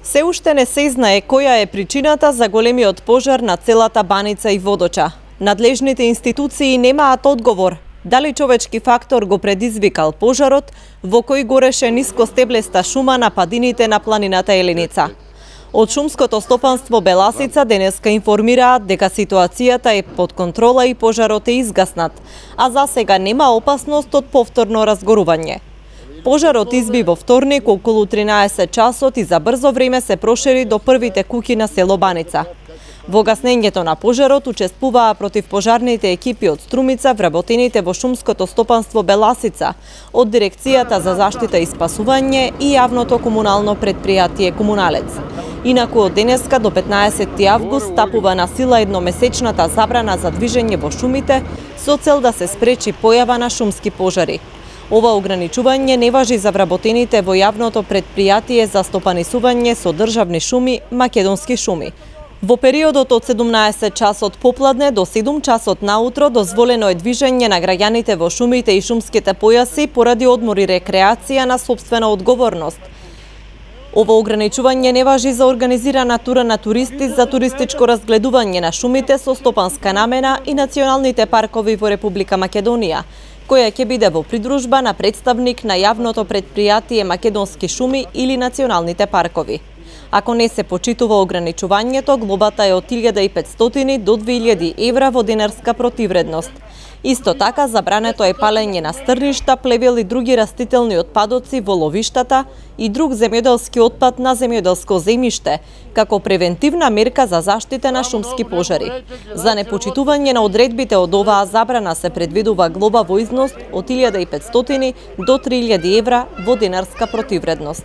Се уште не се знае која е причината за големиот пожар на целата Баница и Водоча. Надлежните институции немаат одговор дали човечки фактор го предизвикал пожарот во кој гореше нискостеблеста шума на падините на планината Еленица. Од шумското стопанство Беласица денеска информираат дека ситуацијата е под контрола и пожарот е изгаснат, а за сега нема опасност од повторно разгорување. Пожарот изби во вторник околу 13 часот и за брзо време се прошири до првите куќи на село Баница. Во гаснењето на пожарот учествуваа противпожарните екипи од Струмица, вработените во шумското стопанство Беласица, од Дирекцијата за заштита и спасување и јавното комунално предпријатие Комуналец. Инаку од денеска до 15 август стапува на сила едномесечната забрана за движење во шумите со цел да се спречи појава на шумски пожари. Ова ограничување не важи за вработените во јавното предпријатие за стопанисување со државни шуми Македонски шуми. Во периодот од 17 часот попладне до 7 часот наутро дозволено е движење на граѓаните во шумите и шумските појаси поради одмор и рекреација на сопствена одговорност. Ова ограничување не важи за организирана тура на туристи за туристичко разгледување на шумите со стопанска намена и националните паркови во Република Македонија, која ќе биде во придружба на представник на јавното предпријатие Македонски шуми или националните паркови. Ако не се почитува ограничувањето, глобата е од 1500 до 2000 евра во динарска противредност. Исто така, забрането е палење на стрништа, плевел и други растителни отпадоци во ловиштата и друг земјоделски отпад на земјоделско земјиште, како превентивна мерка за заштита на шумски пожари. За непочитување на одредбите од оваа забрана се предвидува глоба во износ од 1500 до 3000 евра во динарска противредност.